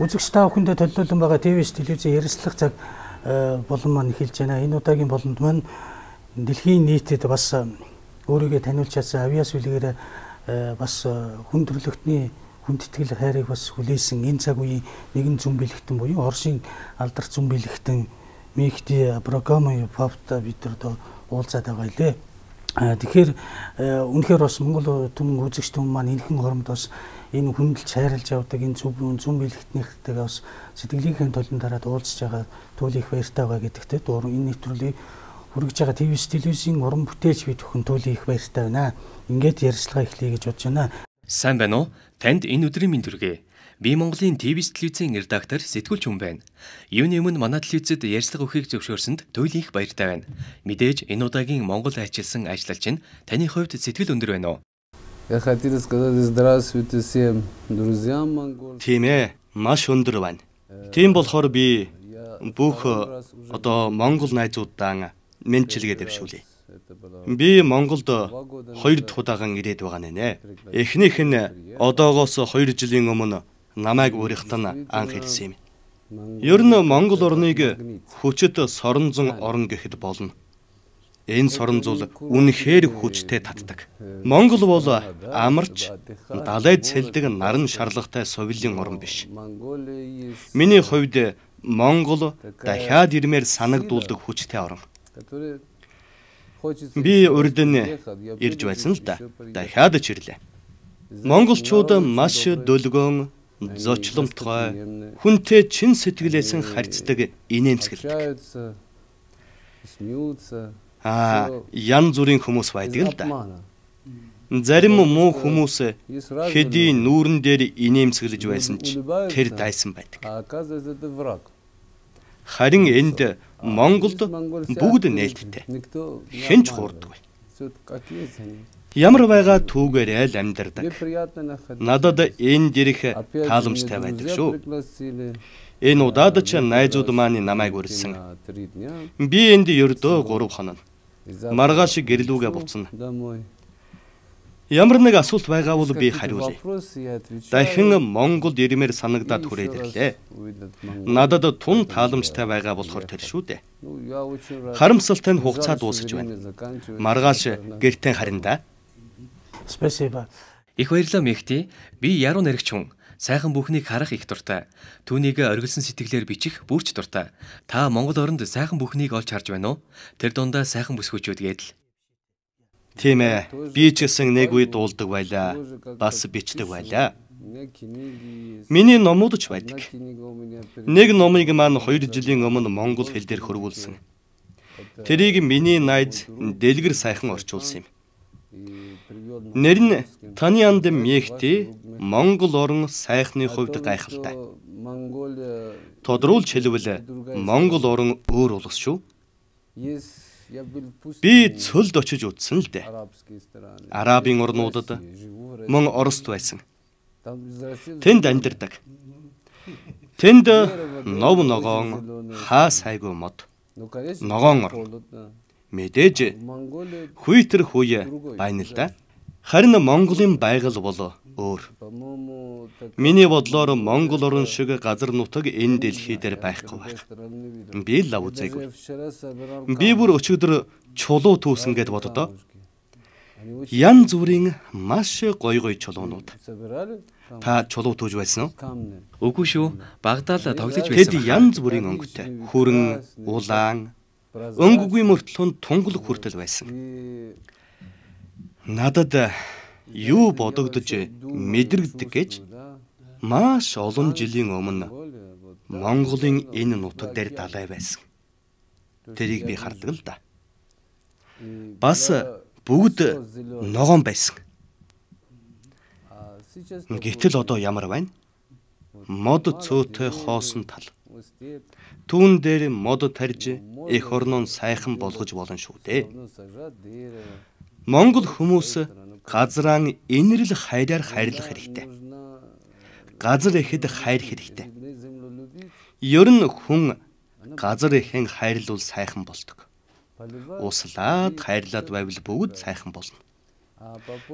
Үзэгч та бүхэндээ төлөөлөн байгаа ТV-с телевизийн ярилцлага цаг болон маань эхэлж байна. Энэ удаагийн болонд маань дэлхийн нийтэд бас өөрийгөө таниулж чадсан авиас үлгээр бас хүндрэлтний хүндэтгэл хайрыг бас хүлээсэн энэ цаг үеийн нэгэн зүн бэлэгтэн буюу Оросын алдарт зүн бэлэгтэн Мехди Абрагамовын папта бид нар уулзаад байгаа лээ. Тэгэхээр үнэхээр бас Монгол түмэн үзэгч түмэн маань энэхэн хоромд бас энэ хүндэлж хайрлаж явдаг энэ зүн бэлэгтнийхтэйгээ бас сэтгэлийнхээ толон дараад уулзж байгаа туул их баяртай байгаа гэдэгтэй дуран энэ нэвтрүүлгийг хүргэж байгаа ТV-с телевизийн уран бүтээлч бид бүхэн туул их баяртай байна. Ингээд ярилцлага эхлэе гэж бодож байна. Сайн байна уу? Танд энэ өдрийн мэнд хүргэе. Би Монголын ТV-с телевизийн редактор сэтгүүлч хүн байна. Юуны өмнө манай телевизэд ярьцлага өгөхийг зөвшөөрсөнд туйл их баяртай байна. Мэдээж энэ удаагийн Монгол хайчилсан ажлалч нь таны хувьд сэтгэл өндөр байна уу? Я хотел сказать здравствуйте всем друзьям монгол. Тийм ээ, маш өндөр байна. Тийм болохоор би бүх одоо монгол найзуудаа мэндчилгээ дэвшүүлье. Би Монголд 2 дахь удаахан ирээд байгаа нэ. Эхнийх нь одоогоос 2 жилийн өмнө намайг өөрийнхтэн анх хэлсэн юм. Ер нь Монгол орныг хүчит соронзон орн гэхэд болно. Энэ соронзул үнэхээр хүчтэй татдаг. Монгол бол амарч далайд сэлдэг наран шарлагтай совилийн орн биш. Миний хувьд Монгол дахиад ирмээр санагдуулдаг хүчтэй орн. Би урд нь ирж байсан л да. Дахиад ч ирлээ. Монголчууд маш дөлгөөн, зочломтгой, хүнтэй чин сэтгэлээсэн харьцдаг инээмсэглэдэг. Ян зүрийн хүмүүс байдаг л да. Зарим муу хүмүүс хэдий нүүрэн дээр инээмсэглэж байсан ч тэр дайсан байдаг. Харин энд Монголд бүгд нээлттэй. Хэн ч хуурдаггүй. Ямар байгаа түүгээрээ л амьдардаг. Надад энэ дэрэх тааламжтай байдаг шүү. Энэ удаад ч найзууд маань намайг урьдсан. Би энд ердөө 3 хоног. Маргааш гэрлүүгээ буцна. Ямар нэг асуулт байгаа бол би хариулъя. Дахин Монголд ирмээр санагдаад хүрээд ирлээ. Надад тун тааламжтай байгаа болохоор тэр шүү дээ. Харамсалтай нь хугацаа дуусаж байна. Маргааш гэртээ харин да. Спасибо. Их баярлалаа Мехди. Би яруу наригч хүн. Сайхан бүхнийг харах их дуртай. Түүнийг оргилсон сэтгэлээр бичих бүрч дуртай. Та Монгол оронд сайхан бүхнийг олж харж байна уу? Тэр дундаа сайхан бүсгүүчүүд гэдэл. Тийм ээ. Би ч гэсэн нэг үед дуулдаг байлаа. Бас бичдэг байлаа. Миний номууд ч байдаг. Нэг номыг маань 2 жилийн өмнө монгол хэл дээр хөрвүүлсэн. Тэрийг миний найз дэлгэр сайхан орчуулсан юм. Нэр нь таны анд Мехди Монгол орн сайхны хувьд гайхалтай. Тодруулж хэлбэл Монгол орн өөр улс шүү. Би цөлд очиж үзсэн л дээ. Арабын орнуудад мөн Орост байсан. Тэнд амьдардаг. Тэнд нов ногоон хаа сайгүй мод. Ногоон ор. Мэдээж хүйтэр хүй байна л да. Харин Монголын байгаль бол өөр. Миний бодлоор Монгол орн шиг газар нутаг энэ дэлхий дээр байхгүй байх. Би л үзээгүй. Би бүр өчигдөр чулуу түүсэн гэд боддоо. Ян зүрийн маш гой чулуунууд. Та чулуу түүж байсан уу? Үгүй шүү. Багадаа л тоглож байсан. Тэд янз бүрийн өнгөтэй. Хүрэн, улаан, өнгөгүй мөртлөн тунгалаг хүртэл байсан. Надад юу бодогдож мэдрэгдэг гэж маш олон жилийн өмнө Монголын энэ нутаг дээр далай байсан. Тэрийг би хардаг л да. Бас бүгд ногоон байсан. Гэтэл одоо ямар байна? Мод цөөтэй хоосон тал. Түүн дээр мод тарж эх орноо сайхан болгож болно шүү дээ. Монгол хүмүүс газраа инэрл хайраар хайрлах хэрэгтэй. Газар ихэд хайр хэрэгтэй. Ер нь хүн газар ихэн хайрлуул сайхан болдог. Услаад хайрлаад байвал бүгд сайхан болно.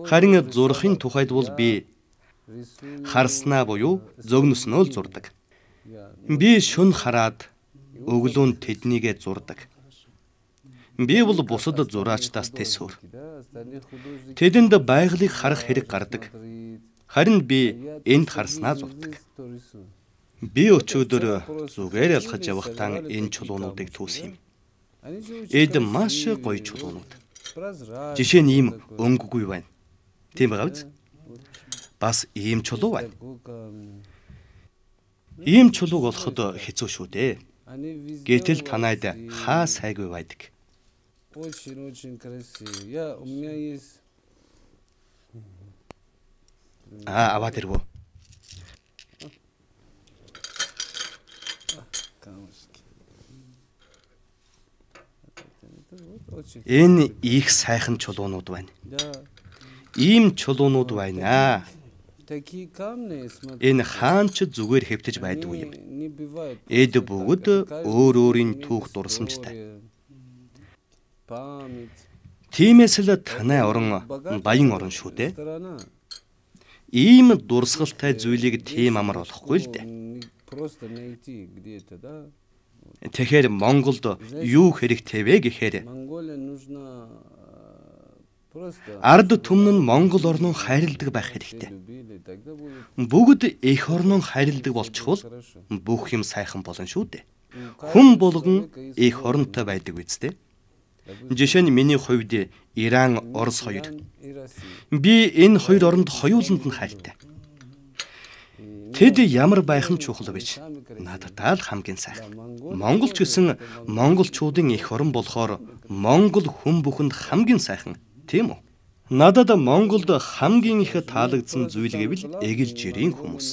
Харин зурхын тухайд бол би харснаа буюу зөгнөснөө л зурдаг. Би шүн хараад өглөөнд тэднийгээ зурдаг. Би бол бусад зураачдаас тэсвэр. Тэдэнд байгалыг харах хэрэг гардаг. Харин би энд харснаа зурдаг. Би өчигдөр зүгээр ялхаж явахдаа энэ чулуунуудыг түүсэн юм. Эд маш гоё чулуунууд. Жишээ нь ийм өнгөгүй байна. Тийм байгаа биз? Бас ийм чулуу байна. Ийм чулууг олоход хэцүү шүү дээ. Гэтэл танайд хаа сайгүй байдаг. Очень красиво. У меня есть... Аваад ирвөө. Энэ их сайхан чулуунууд байна. Ийм чулуунууд байна. Энэ хаан ч зүгээр хэвтэж байдгүй юм. Эд бүгд өөр өөрийн түүх дурсамжтай. Тиймээс л танай орон баян орон шүү дээ. Ийм дурсгалтай зүйлийг тийм амар болохгүй л дээ. Тэгэхээр Монголд юу хэрэгтэй вэ гэхээр ард түмэн нь Монгол орноо хайрладаг байх хэрэгтэй. Бүгд эх орноо хайрладаг болчихвол бүх юм сайхан болно шүү дээ. Хүн болгон эх оронтой байдаг үсттэй. Жишээ нь миний хувьд Иран, Орос хоёр. Би энэ хоёр оронд хоёуланд нь хайртай. Тэд ямар байх нь чухал биш. Надад л хамгийн сайхан. Монголч гэсэн монголчуудын эх орон болохоор Монгол хүн бүхэнд хамгийн сайхан, тийм үү? Надад Монголд хамгийн их таалагдсан зүйл гэвэл эгэл жирийн хүмүүс.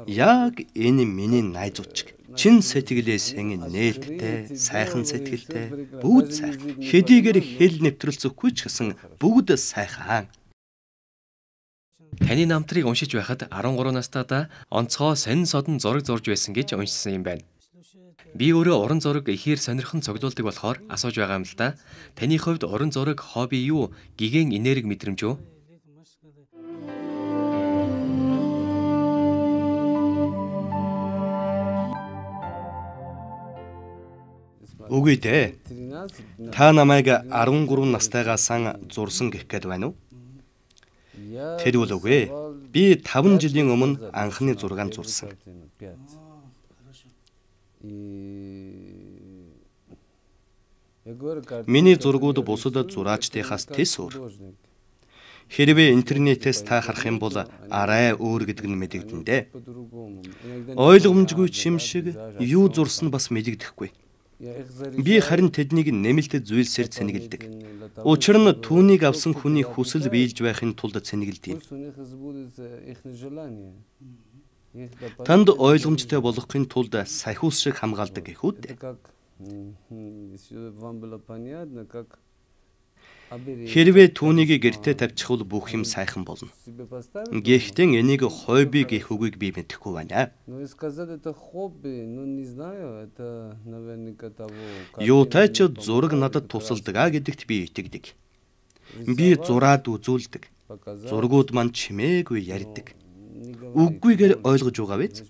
Яг энэ миний найзууд. Чин сэтгэлээсэн нээлттэй, сайхан сэтгэлтэй, бүгд сайхан. Хэдийгээр хэл нэвтрэлцэхгүй ч гэсэн бүгд сайхан. Таны намтрыг уншиж байхад 13 настайдаа онцгой сонин содон зураг зурж байсан гэж уншсан юм байна. Би өөрөө уран зураг ихээр сонирхон цуглуулдаг болохоор асууж байгаа юм л да. Таны хувьд уран зураг хобби юу? Гигэн энерги мэдрэмж юу? Үгүй дээ. Та намайг 13 настайгаас зурсан гэх гээд байна уу? Тэр үл үгүй. Би 5 жилийн өмнө анхны зургаан зурсан. Миний зургууд бусад зураачдынхаас тэс өөр. Хэрвээ интернетээс та харах юм бол арай өөр гэдэг нь мэдэгдэн дээ. Ойлгомжгүй юм шиг юу зурсан бас мэдэгдэхгүй. Би харин тэднийг нэмэлт зүйлсээр цэнгэлдэг. Учир нь түүнийг авсан хүний хүсэл биелж байхын тулд цэнгэлдэг. Танд ойлгомжтой болохын тулд сахиус шиг хамгаалдаг гэх үү? Хэрвээ түүнийг гэртээ тавьчихвал бүх юм сайхан болно. Гэхдээ энийг хобби гэх үгийг би мэдэхгүй байна. Юутай ч зураг надад тусалдаг гэдэгт би итгэдэг. Би зураад үзүүлдэг. Зургууд маань чимээгүй ярьдаг. Үггүйгээр ойлгож байгаа биз?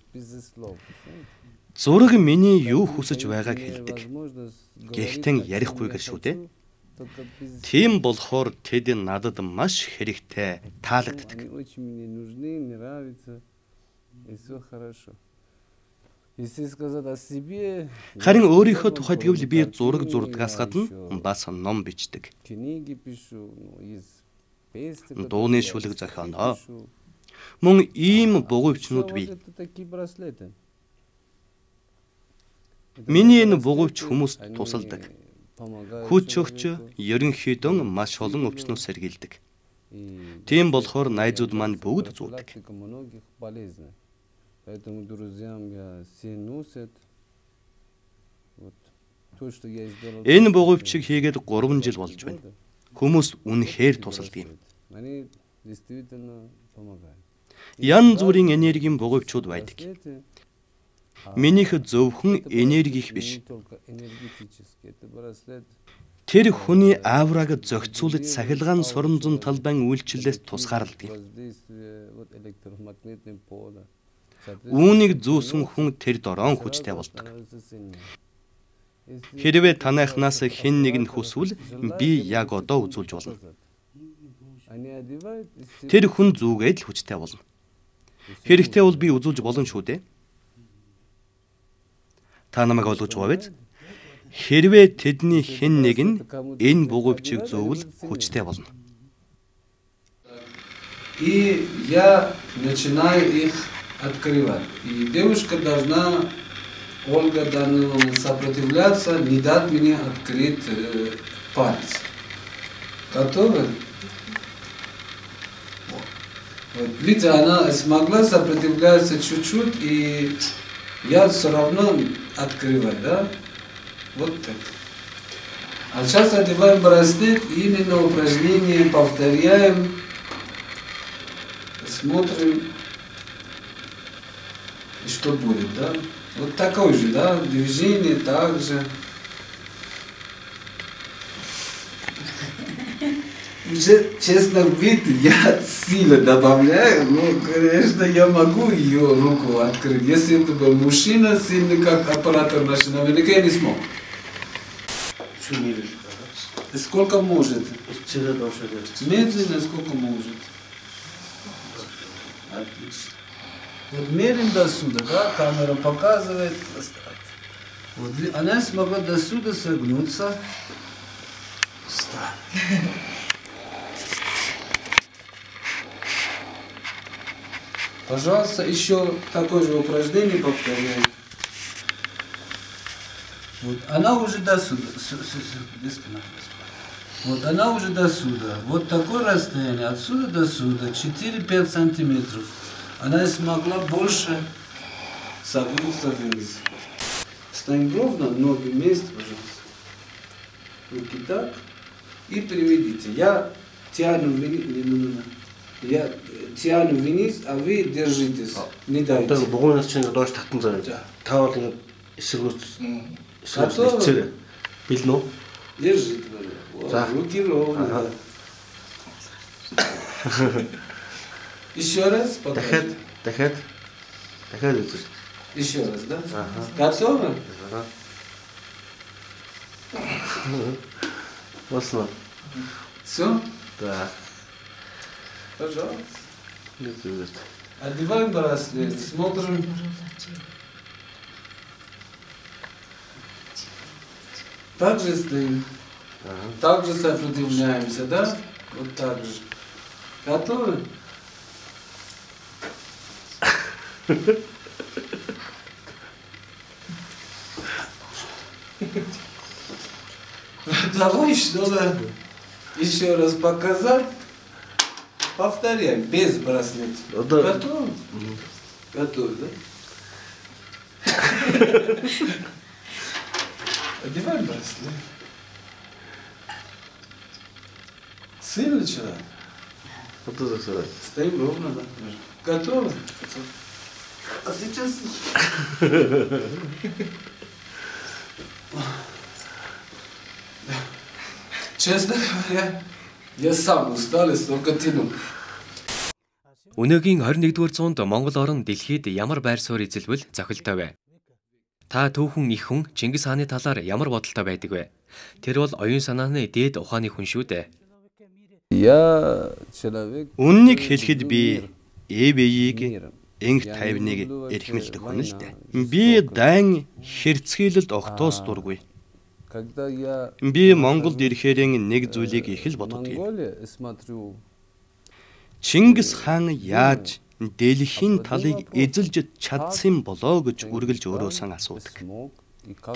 Зураг миний юу хүсэж байгааг хэлдэг. Гэхдээ ярихгүйгээр шүү дээ. Тийм болохоор тэд надад маш хэрэгтэй таалагддаг. Харин өөрийнхөө тухайд гэвэл би зураг зурдгаас гадна бас ном бичдэг. Дууны шүлэг зохионоо. Мөн ийм бугуйчнууд бий. Миний энэ бугуйч хүмүүст тусалдаг. Хүч өгч ерөнхийдөө маш олон өвчнүүд сэргийлдэг. Тийм болохоор найзууд маань бүгд зүүдэг. Энэ бугуйчийг хийгээд 3 жил болж байна. Хүмүүс үнэхээр тусалдаг юм. Янз бүрийн энергийн бугуйчуд байдаг. Минийх зөвхөн энерги их биш. Тэр хүний аураг зохицуулж сахилгаан соромзон талбайн үйлчлэлээс тусгаарладаг. Үүнийг зүүсэн хүн тэр дороон хүчтэй болдог. Хэрвээ танайхнаас хэн нэг нь хүсвэл би яг одоо үзүүлж болно. Тэр хүн зүгээд л хүчтэй болно. Хэрэгтэй бол би үзүүлж болно шүү дээ. Та намайг ойлгож байгаа биз? Хэрвээ тэдний хэн нэг нь энэ бугуйчийг зүүвэл хүчтэй болно. И я начинаю их открывать. И девушка должна, Ольга должна сопротивляться, не дать мне открыть палец. Готовы? Вот. Видите, она смогла сопротивляться чуть-чуть, и я все равно открываю, да? Вот так. А сейчас одеваем браслет, именно упражнение повторяем, смотрим, что будет, да? Вот такое же, да, движение также. Уже, честно, вид я сильно добавляю, но, конечно, я могу ее руку открыть. Если это был мужчина сильный, как оператор машины, наверняка я не смог. Сколько может? Медленно, сколько может. Отлично. Вот мерим до сюда, да, камера показывает. Вот, она смогла до сюда согнуться. Встать. Пожалуйста, еще такое же упражнение повторяем. Вот, она уже до сюда. Вот она уже до сюда. Вот такое расстояние, отсюда до сюда, 4-5 сантиметров. Она смогла больше согнуться вниз. Встань ровно, ноги вместе, пожалуйста. Руки так. И приведите. Я тяну вниз. Я тяну вниз, а вы держитесь. Не дайте. Богонос чинь доош татан заяа. Та бол ингэ эсрэг билнэ үү? Держите. Руки ровно. Еще раз. Дахиад үзэр. Еще раз, да? Готовы? Болсон. Все? Да. Пожалуйста. Нет. Одеваем браслет, смотрим. Так же стоим. Так же сопротивляемся, да? Вот так же. Готовы? Давай, чтобы еще раз показать. Повторяем, без браслета. Готовы? Готовы, да? Одеваем браслет. Сильный человек. Стоим ровно, да? Готовы? А сейчас... Честно говоря, я сам устал и столько тянул. Өнөөгийн 21-р зуунд Монгол орн дэлхийд ямар байр суурь эзэлвэл зохилтой вэ? Та түүхэн их хүн Чингис хааны талаар ямар бодолтой байдаг вэ? Тэр бол оюун санааны дээд ухааны хүн шүү дээ. Үннийг хэлэхэд би ЭБ-ийг энх тайвныг эрхмэлдэг хүн л дээ. Би дайн хэрцгийлэлд огтоос дургүй. Би Монголд ирэхээр нэг зүйлийг их л боддог юм. Чингис хаан яаж дэлхийн талыг эзэлж чадсан болоо гэж үргэлж өөрөөсөө асуудаг.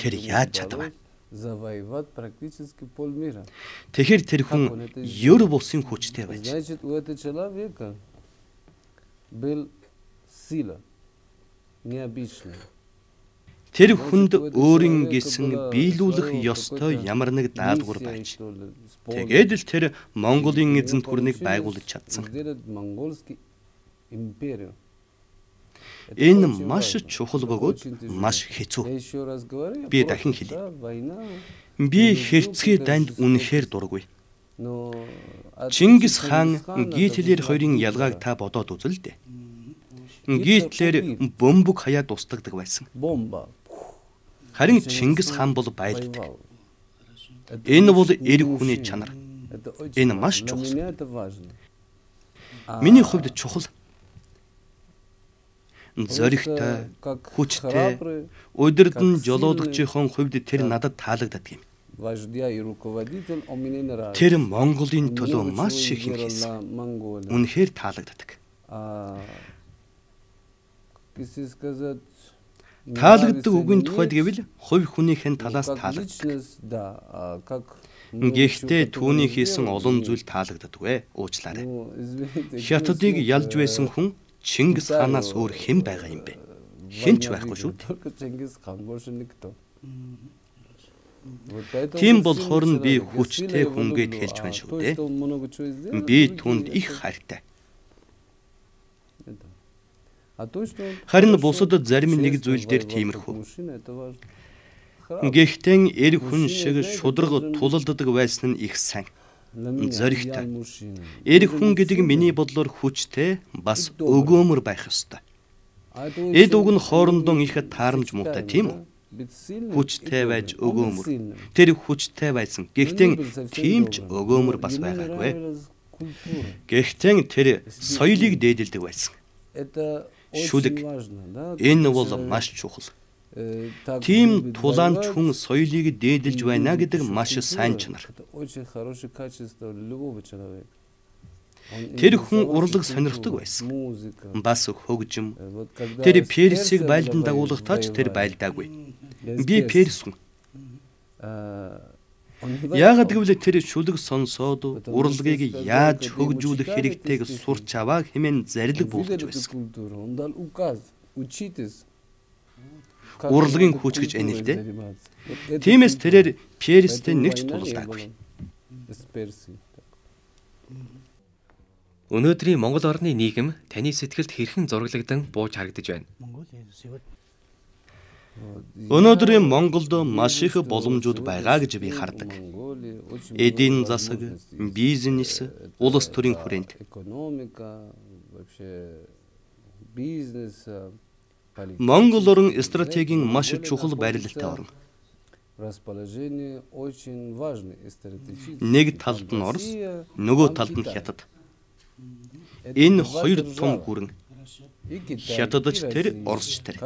Тэр яаж чадав? Тэгэхээр тэр хүн ёр бусын хүчтэй байж. Тэр хүнд өөрийн гэсэн биелүүлэх ёстой ямар нэг даалгавар байж. Тэгээд л тэр Монголын эзэнт гүрнийг байгуулж чадсан. Энэ маш чухал бөгөөд маш хэцүү. Би дахин хэлье. Би хэрцгий данд үнэхээр дургүй. Чингис хаан Гитлер хоёрын ялгааг та бодоод үзэл дээ. Гитлер бомбог хаяад устгагдаг байсан. Харин Чингис хаан бол байлдаг. Энэ бол эрх хүний чанар. Энэ маш чухал. Миний хувьд чухал. Зоригтой, хүчтэй, удирдан жолоодогчийн хувьд тэр надад таалагддаг юм. Тэр Монголын төлөө маш их юм хийсэн. Үнэхээр таалагддаг. Таалагддаг үгийн тухайд гэвэл хувь хүнийхэн талаас таалагддаг. Гэхдээ түүний хийсэн олон зүйл таалагддаггүй. Уучлаарай. Хятадыг ялж байсан хүн Чингис хаанаас өөр хэн байгаа юм бэ? Хэн ч байхгүй шүү дээ. Тийм болохоор нь би хүчтэй хүнгээд хэлж байна шүү дээ. Би түүнд их хайртай. Харин бусад зарим нэг зүйл дээр тиймэрхүү. Гэхдээ эрх хүн шиг шударга тулалддаг байсан нь их сайн. Зоригтой. Эрх хүн гэдэг миний бодлоор хүчтэй, бас өгөөмөр байх ёстой. Эд үг нь хоорондоо их таарамж муутай тийм үү? Хүчтэй байж өгөөмөр. Тэр хүчтэй байсан. Гэхдээ тийм ч өгөөмөр бас байгаагүй. Гэхдээ тэр соёлыг дээдэлдэг байсан. Шүлэг. Энэ бол маш чухал. Тийм тулаанч хүн соёлыг дээдэлж байна гэдэг маш сайн чанар. Тэр хүн урлаг сонирхдаг байсан. Бас хөгжим. Тэр Персийг байлдан дагуулгатай ч тэр байлдаагүй. Би Перс хүн. Яагаад гэвэл тэр шүлэг сонсоод урлагийг яаж хөгжүүлэх хэрэгтэйг сурч аваа хэмээн зарлиг буулгаж байсан. Урлагийн хүч гэж энэлдэ. Тиймээс тэрээр Перстэй нэгч тулалдаагүй. Өнөөдрийн Монгол орны нийгэм таны сэтгэлд хэрхэн зураглагдан бууж харагдаж байна? Өнөөдрийн Монголд маш их боломжууд байгаа гэж би хардаг. Эдийн засаг, бизнес, улс төрийн хүрээнд. Монгол орн стратегийн маш чухал байрлалтай орн. Нэг талд нь Орос, нөгөө талд нь Хятад. Энэ хоёр том гүрэн. Хятадч тэр, Оросч тэр.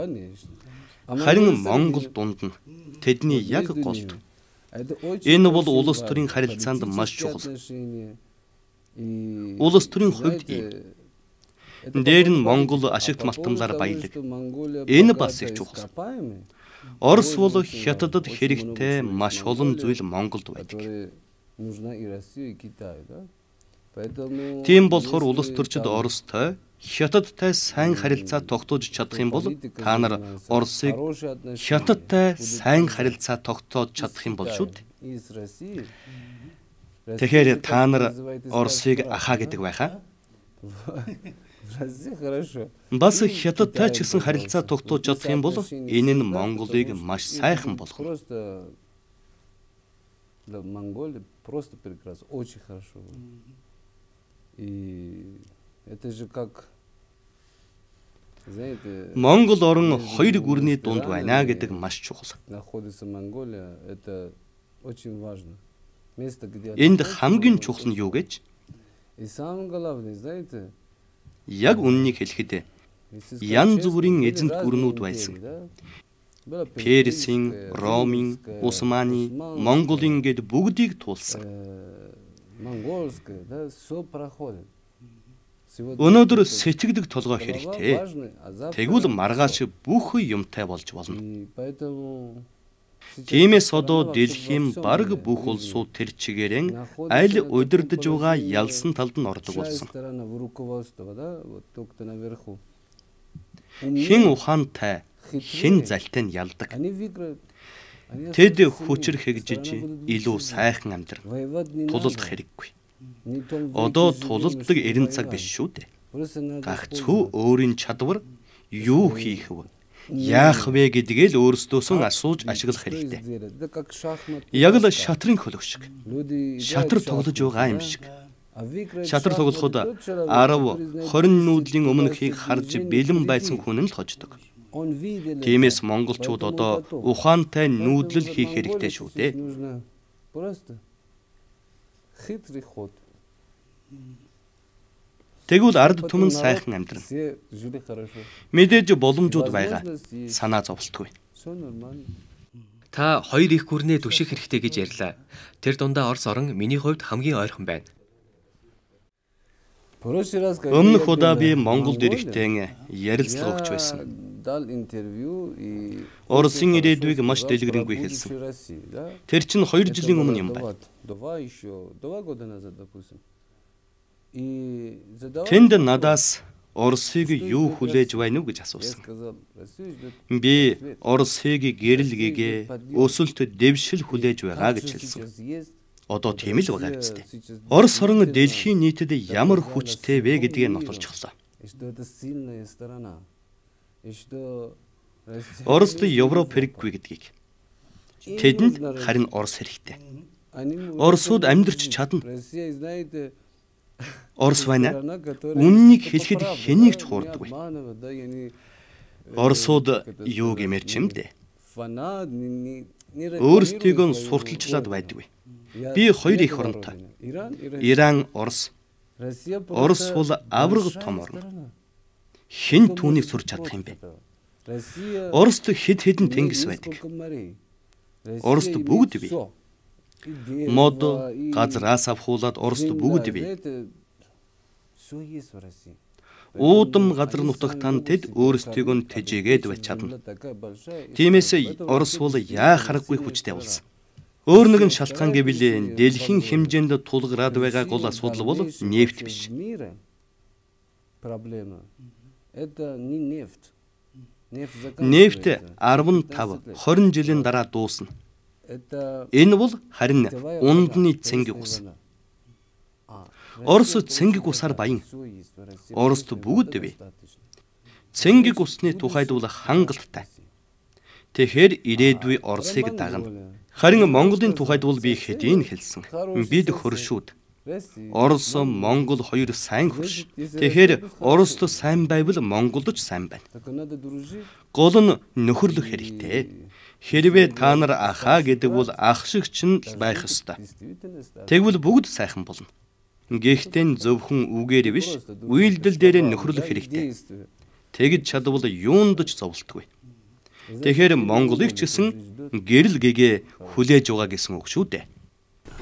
Харин Монгол дунд нь тэдний яг голд. Энэ бол улс төрийн харилцаанд маш чухал. Улс төрийн хувьд дээр нь Монгол ашигт малтамлаар баялаг. Энэ бас их чухал. Орос бол Хятадд хэрэгтэй маш олон зүйл Монголд байдаг. Тийм болохоор улс төрчид Оростой, Хятадтай сайн харилцаа тогтоож чадах юм бол та нар Оросыг Хятадтай сайн харилцаа тогтоож чадах юм бол шүү дээ. Тэгэхээр та нар Оросыг ахаа гэдэг байхаа. Бас Хятадтай ч гэсэн харилцаа тогтоож чадах юм бол энэ нь Монголыг маш сайхан болгоно. Монгол орн хоёр гүрний дунд байна гэдэг маш чухал. Энд хамгийн чухал нь юу гэж? Яг үннийг хэлэхэд янз бүрийн эзэнт гүрнүүд байсан. Персийн, Ромын, Усманы, Монголын гэд бүгдийг туулсан. Өнөөдөр сэтгэдэг толгой хэрэгтэй. Тэгвэл маргааш бүх юмтай болж болно. Тиймээс одоо дэлхийн бараг бүх улсууд тэр чигээрэн аль удирдах байгаа ялсан талд нь ордог болсон. Хэн ухаантай, хэн залтай нь ялдаг. Тэд хүчээр хэгжиж илүү сайхан амьдрал тулалдах хэрэггүй. Одоо тулалддаг эрен цаг биш шүү дээ. Гагцхүү өөрийн чадвар юу хийх вэ? Яах вэ гэдгээ л өөрсдөөсөө асууж ашиглах хэрэгтэй. Яг л шатрын хөлөг шиг. Шатар тоглож байгаа юм шиг. Шатрал тоглоход 10-20 нүүдлийн өмнөхийг харж бэлэн байсан хүн нь л хождог. Тиймээс монголчууд одоо ухаантай нүүдлэл хийх хэрэгтэй шүү дээ. Тэгвэл ард түмэн сайхан амьдрна. Мэдээж боломжууд байгаа. Санаа зовлтгүй. Та хоёр их гүрнээ түших хэрэгтэй гэж ярьлаа. Тэр дундаа Орос орон миний хувьд хамгийн ойрхон байна. Өмнөх удаа би Монголд ирэхдээ ярилцлага өгч байсан. Оросын ирээдүйг маш дэлгэрэнгүй хэлсэн. Тэр чинь 2 жилийн өмнө юм байна. Тэнд надаас Оросыг юу хүлээж байна уу гэж асуусан. Би Оросыг гэрэл гэгээ өсөлт дэвшил хүлээж байгаа гэж хэлсэн. Одоо тийм л байгаа биз дээ. Орос орн дэлхийн нийтэд ямар хүчтэй вэ гэдгийг нотолчихлоо. Орост Европ хэрэггүй гэдгийг. Тэдэнд харин Орос хэрэгтэй. Оросууд амьдарч чадна. Орос байна. Үннийг хэлэхэд хэнийг ч хуурдаггүй. Оросууд юу гэмээр ч юм дээ. Өөрсдийгөө сурталчлаад байдаггүй. Би 2 их оронтой. Иран, Орос. Орос бол авраг том орн. Хэн түүнийг сурч чадах юм бэ? Орост хэд хэдэн тэнгис байдаг. Орост бүгд бий. Мод газраас авахуулаад Орост бүгд бий. Уудам газар нутагтан тэд өөрсдийгөө тэжээгээд байж чадна. Тиймээс Орос бол яахаргүй хүчтэй болсон. Өөр нэгэн шалтгаан гэвэл дэлхийн хэмжээнд тулгараад байгаа гол асуудал бол нефт биш. Нефт 15-20 жилийн дараа дуусна. Энэ бол харин ундны цэнгэг ус. Орос цэнгэг усаар баян. Орост бүгд бий. Цэнгэг усны тухайд бол хангалттай. Тэгэхээр ирээдүй Оросыг дагна. Харин Монголын тухайд бол би хэдийн хэлсэн. Бид хөршүүд. Орос, Монгол хоёр сайн хөрш. Тэгэхээр Орост сайн байвал Монголд ч сайн байна. Гол нь нөхөрлөх хэрэгтэй. Хэрвээ та нар ахаа гэдэг бол ах шиг ч байх ёстой. Тэгвэл бүгд сайхан болно. Гэхдээ зөвхөн үгээр биш, үйлдэл дээр нөхөрлөх хэрэгтэй. Тэгж чадвал юунд ч зовлтгүй. Тэгэхээр Монголыг ч гэсэн гэрэл гэгээ хүлээж байгаа гэсэн үг шүү дээ.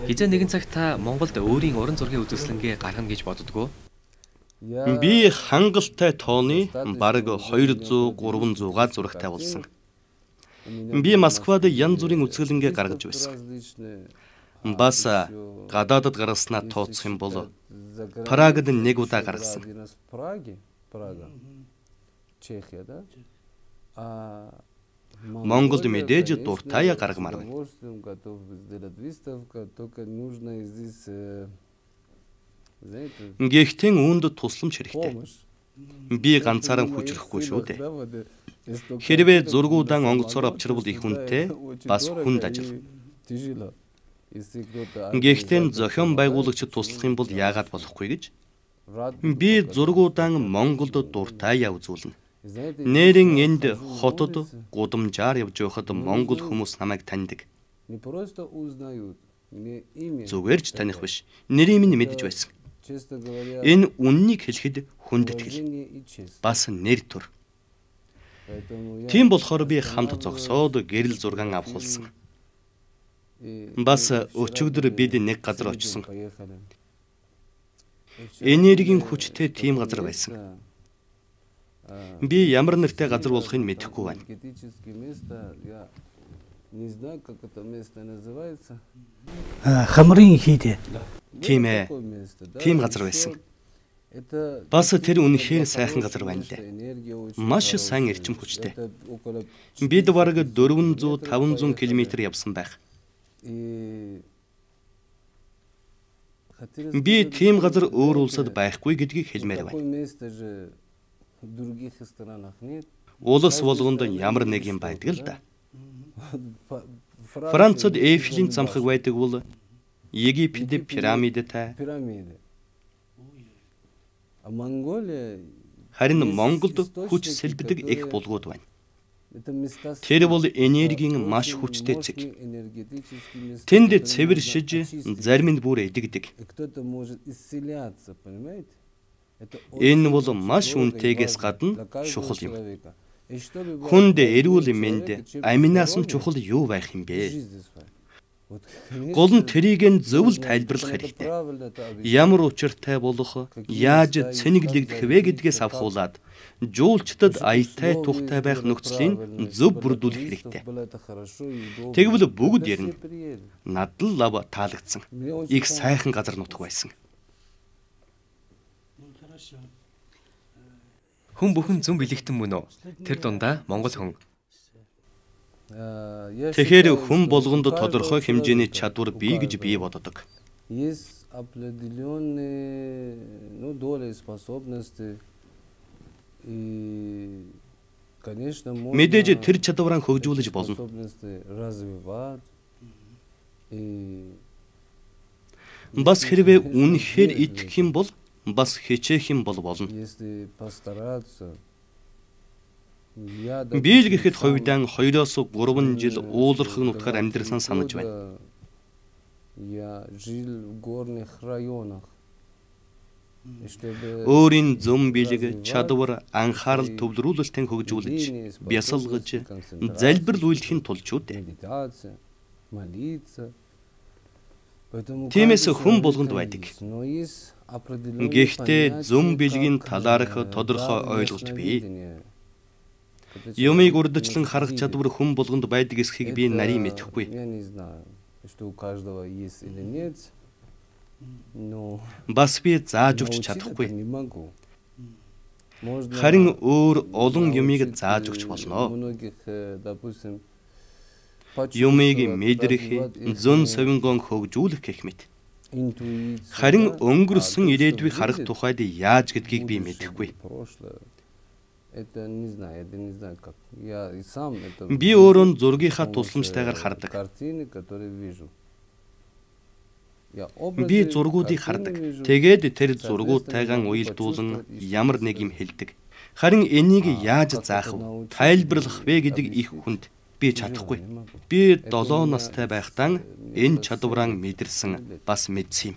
Хизээ нэгэн цагт та Монголд өөрийн уран зургийн үзэсгэлэнгээ гаргана гэж боддгоо? Би хангалттай тооны бараг 200-300-га зурагтай болсон. Би Москвад янз бүрийн үзэсгэлэнгээ гаргаж байсан. Бас гадаадд гаргаснаа тооцох юм бол Прагад 1 удаа гаргасан. Монголд мэдээж дуртай гаргамаар байна. Гэхдээ үүнд тусламж хэрэгтэй. Би ганцаараа хүчрэхгүй шүү дээ. Хэрвээ зургуудаа онгоцоор авчирвал их үнэтэй бас хүнд ажил. Гэхдээ зохион байгуулагчид туслах юм бол яагаад болохгүй гэж би зургуудаа Монголд дуртай үзүүлнэ. Нэрийн энд хотод гудамжаар явж байхад Монгол хүмүүс намайг таньдаг. Зүгээр ч таних биш. Нэрийг минь мэдэж байсан. Энэ үннийг хэлэхэд хүндэтгэл. Бас нэр төр. Тийм болохоор би хамт зогсоод гэрэл зургаан авахулсан. Бас өчигдөр бид нэг газар очсон. Энергийн хүчтэй тийм газар байсан. Би ямар нэртэй газар болохыг мэдэхгүй байна. Хамрын хийдэ. Тийм ээ. Тийм газар байсан. Бас тэр үнэхээр сайхан газар байна лээ. Маш сайн эрчим хүчтэй. Бид бараг 400-500 км явсан байх. Би тийм газар өөр улсад байхгүй гэдгийг хэлмээр байна. Улс болгонд ямар нэг юм байдаг л да. Францад Эйфелийн цамхаг байдаг бол Египтэд пирамидтай, Харин Монголд хүч сэлбэдэг их булгууд байна. Тэр бол энергийн маш хүчтэй зэг. Тэнд цэвэршиж, зарим нь бүр эдэгдэг. Энэ бол маш үнэтэйгээс гадна чухал юм. Хүнд эрүүл мэнд аминаас нь чухал юу байх юм бэ? Гол нь тэрийг нь зөвл тайлбарлах хэрэгтэй. Ямар учиртай болох, яаж цэнэглэгдэх вэ гэдгээс авахуулаад жуулчдад аятай тухтай байх нөхцөлийг зөв бүрдүүлэх хэрэгтэй. Тэгвэл бүгд ярина. Надад лав таалагдсан. Их сайхан газар нутаг байсан. Хүн бүхэн зөв бэлэгтэн мөн үү? Тэр дундаа монгол хүн. Тэгэхээр хүн болгонд тодорхой хэмжээний чадвар бий гэж би боддог. Мэдээж тэр чадвараа хөгжүүлж болно. Бас хэрвээ үнэхээр итгэх юм бол бас хичээх юм бол болно. Би л гэхэд хувьдаа 2-3 жил уулархаг нутгаар амьдрсан санаж байна. Өөрийн зам бэлэг, чадвар, анхаарал төвлөрүүлэлтэн хөгжүүлж, бясалгаж, залбирал үйлдэхин тулд ч үү. Тиймээс хүн болгонд байдаг. Гэхдээ зам бэлгийн талаарх тодорхой ойлголт бий. Юмыг урдчлан харах чадвар хүн болгонд байдаг эсхийг би нарийн мэдэхгүй. Бас би зааж өгч чадахгүй. Харин өөр олон юмыг зааж өгч болно. Юмыг мэдрэх, зөн совингон хөгжүүлэх гэх мэт. Харин өнгөрсөн ирээдүйг харах тухайд яаж гэдгийг би мэдэхгүй. Би өөрөө зургийнхаа тусламжтайгаар хардаг. Би зургуудыг хардаг. Тэгээд тэр зургуудтайгаа уялдуулан ямар нэг юм хэлдэг. Харин энийг яаж заах вэ? Тайлбарлах вэ гэдэг их хүнд би чадахгүй. Би 7 настай байхдаа энэ чадвараа мэдэрсэн, бас мэдсэн юм.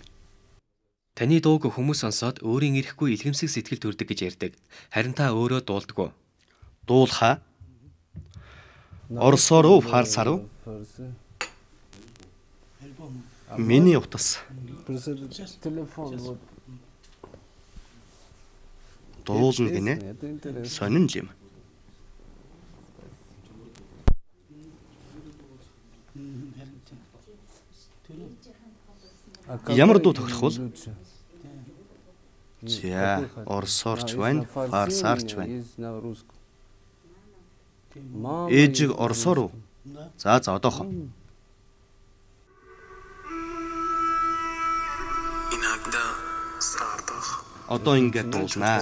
Таны дууг хүмүүс сонсоод өөрийн ирэхгүй илгэмсэг сэтгэл төрдөг гэж ярьдаг. Харин та өөрөө дуулдаг уу? Дуулахаа. Оросоор уу, фарсаар уу? Миний утас. Дуулна гинэ. Сонин юм. Ямар дуу тохирох вэ? За, оросоорч байна, фарсаарч байна. Ээжиг оросоор уу? За одоохон. Одоо ингээд дуулнаа.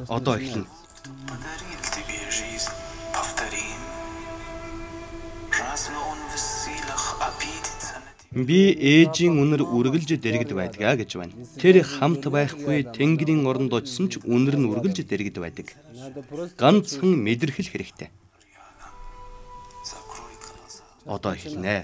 Одоо эхэлнэ. Би ээжийн үнэр үргэлж дэрэгд байдгаа гэж байна. Тэр хамт байхгүй Тэнгэрийн оронд очсон ч үнэр нь үргэлж дэрэгд байдаг. Ганцхан мэдэрхэл хэрэгтэй. Одоо эхэлнэ.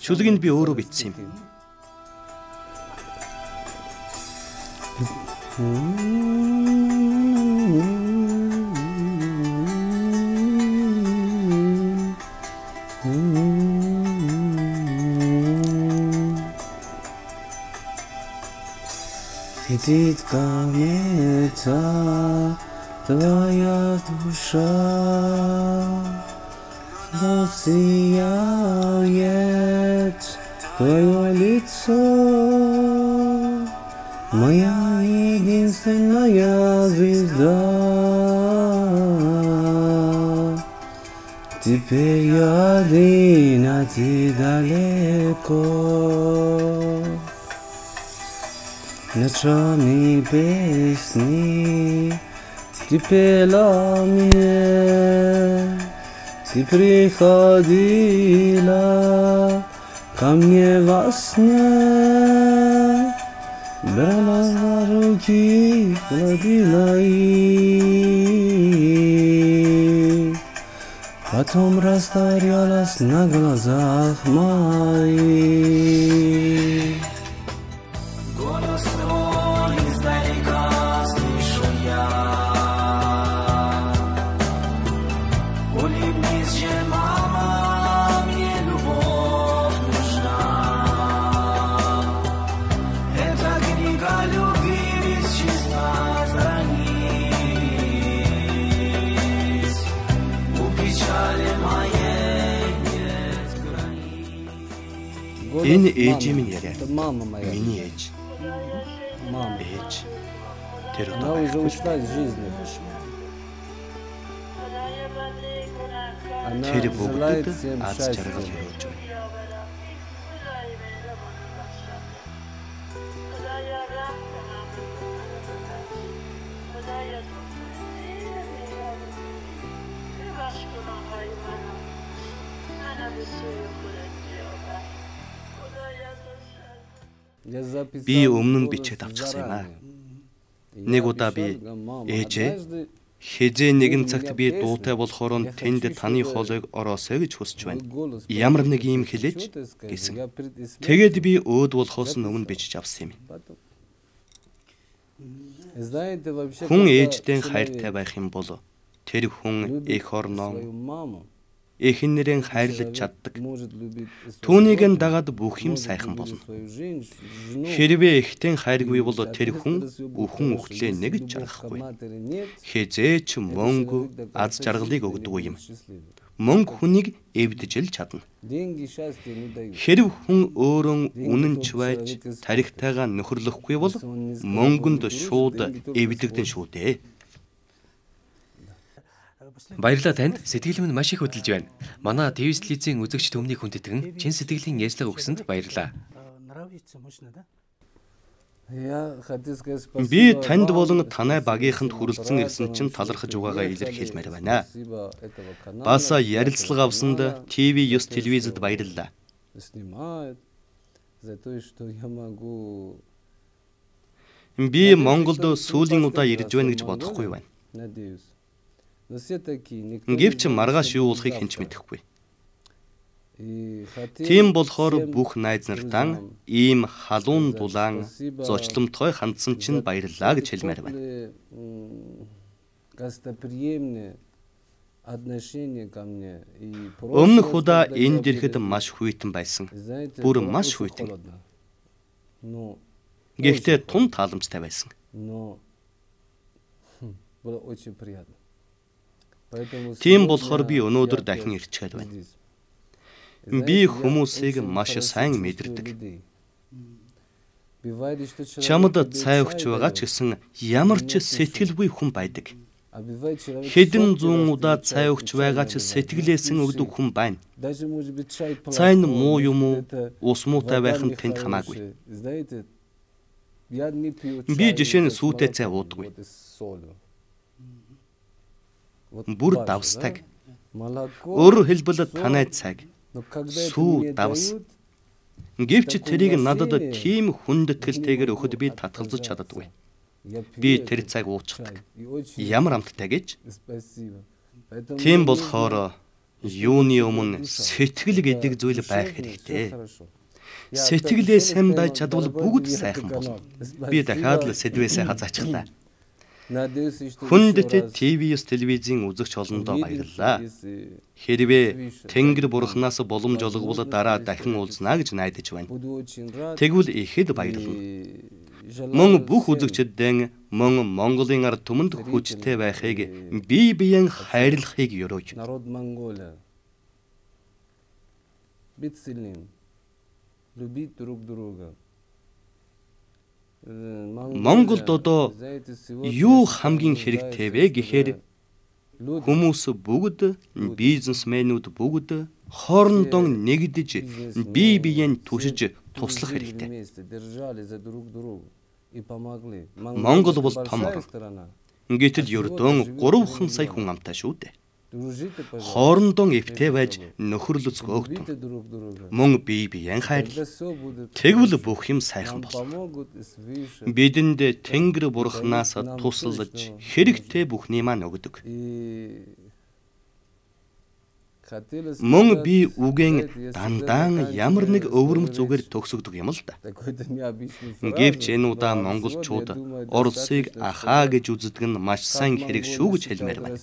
Шүлгийг би өөрөө бичсэн юм. Летит комета, твоя душа, но сияет твое лицо, моя единственная звезда. Теперь я один, а ты далеко. Ночами песни ты пела мне, ты приходила ко мне во сне, брала за руки, гладила их, потом растворялась на глазах моих. Голос твой издалека слышу я, улыбнись же, мама, мне любовь нужна. Эта книга любви без числа страниц, у печали моей нет границ. Энэ ээжийн минь яриа. Миний ээж. Ээж. Тэр Она уже ушла из жизни. Она тэр желает бүгдэд всем аз счастья. жаргал өрөөж байна. Би өмнө нь бичээд авчихсан юм аа. Нэг удаа би ээжээ хизээ нэгэн цагт би дуутай болохоор нь тэнд таны хоолойг ороосоо гэж хүсэж байна. Ямар нэг юм хэлээж гэсэн. Тэгээд би өөд болохоос өмнө бичиж авсан юм. Хүн ээжтэй хайртай байх юм бол тэр хүн эх орноо эхэн нэрэн хайрлаж чаддаг. Түүнийг нь дагаад бүх юм сайхан болно. Хэрвээ эхтэн хайргүй бол тэр хүн бүхэн үхлээ нэгж жаргахгүй. Хизээч мөнгө аз жаргалыг өгдөггүй юм. Мөнгө хүнийг эвдэж л чадна. Хэрв хүн өөрөө үнэнч байж тарихтайгаа нөхөрлөхгүй бол мөнгөнд шууд эвдэгдэн шүү дээ. Баярлалаа танд. Сэтгэл минь маш их хөдөлж байна. Манай ТV телевизийн үзэгч төмнийг хүндэтгэн чин сэтгэлийн ярьцлага өгсөнд баярлалаа. Би танд болон танай багийнханд хүрэлцэн ирсэн чинь талархаж угаагаа илэрхийлмээр байна. Бас ярилцлага авсанд ТV9 телевизэд баярлалаа. Би Монголд сүүлийн удаа ирж байна гэж бодохгүй байна. Гэвч маргааш юу болохыг хэн ч мэдэхгүй. Тийм болохоор бүх найз нартаа ийм халуун дулаан зочломтгой хандсан чинь баярлалаа гэж хэлмээр байна. Өмнөх удаа энд ирэхэд маш хүйтэн байсан. Бүр маш хүйтэн. Гэхдээ тун тааламжтай байсан. Тийм болохоор би өнөөдөр дахин ирчээд байна. Би хүмүүсийг маш сайн мэдэрдэг. Чамд цай өгч байгаа ч гэсэн ямар ч сэтгэлгүй хүн байдаг. Хэдэн зуун удаа цай өгч байгаа ч сэтгэлээсэн өгдөг хүн байна. Цай нь муу юм уу, ус муутай байх нь тэнд хамаагүй. Би жишээ нь сүйтэй цай уудаггүй. Бүр давстаг. Өөрөөр хэлбэл танай цаг сүү давс. Гэвч тэрийг надад тийм хүндэтгэлтэйгээр өгөхөд би татгалзаж чаддаггүй. Би тэр цаг уучдаг. Ямар амттай гэж? Тийм болохоор юуны өмнө сэтгэл гэдэг зүйл байх хэрэгтэй. Сэтгэлээ сайн дайж чадвал бүгд сайхан болно. Би дахиад л сэдвээсээ хазаачлаа. Хүндэт ТV9 телевизийн үзэгч олондоо баярлалаа. Хэрвээ Тэнгэр бурхнаас боломж олгвол дараа дахин уулзнаа гэж найдаж байна. Тэгвэл ихэд баярлалаа. мөн бүх үзэгчдэн мөн Монголын ард түмэнд хүчтэй байхыг бие биеэн хайрлахыг ёрооч. Народ Монголия. Быть сильным. Любить друг друга. Монголд одоо юу хамгийн хэрэгтэй вэ гэхээр хүмүүс бүгд бизнесмэнүүд бүгд хоорондоо нэгдэж бие биеэн түшиж туслах хэрэгтэй. Монгол бол том орн. Гэтэл ердөө 3 сая хүн амтай шүү дээ. Хоорондоо эвтэй байж нөхөрлөц хөөгдөн. Мөн бие биеэн хайрлал. Тэгвэл бүх юм сайхан болно. Бидэнд Тэнгэр бурхнаас тусалж хэрэгтэй бүхний маань өгдөг. Мөн би үгэн дандаа ямар нэг өвөрм зүгээр төгсөгдөг юм л да. Гэвч энэ удаа монголчууд Оросыг ахаа гэж үздэг нь маш сайн хэрэг шүү гэж хэлмээр байна.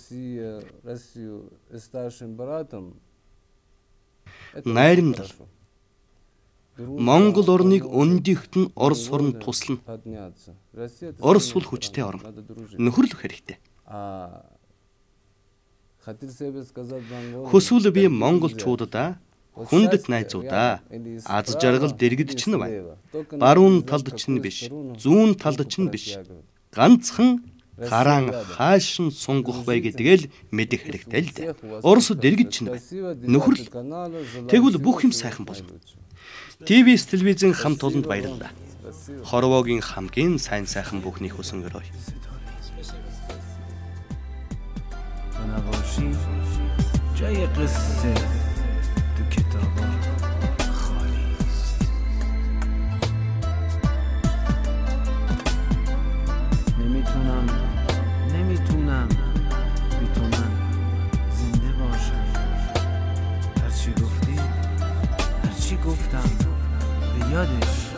Найрамдал. Монгол орныг өндийхт нь Орос орн туслана. Орос бол хүчтэй орн. Нөхөрлөх хэрэгтэй. Хүсвэл би монголчуудаа хүндэт найзуудаа аз жаргал дэргэд ч нь байна. Баруун талд ч нь биш, зүүн талд ч нь биш. Ганцхан хараан хаашин сунгах бай гэдгээл мэдэх хэрэгтэй л дээ. Орос дэргэд ч нь байна. Нөхөрл. Тэгвэл бүх юм сайхан болно. ТВ-с телевизэн хамт олонд баярлалаа. Хорвоогийн хамгийн сайн сайхан бүхний хүсэн өрөө. جای قصه تو کتابا خالی است. نمیتونم بی تو من زنده باشم. هرچی گفتی هرچی گفتم به یادش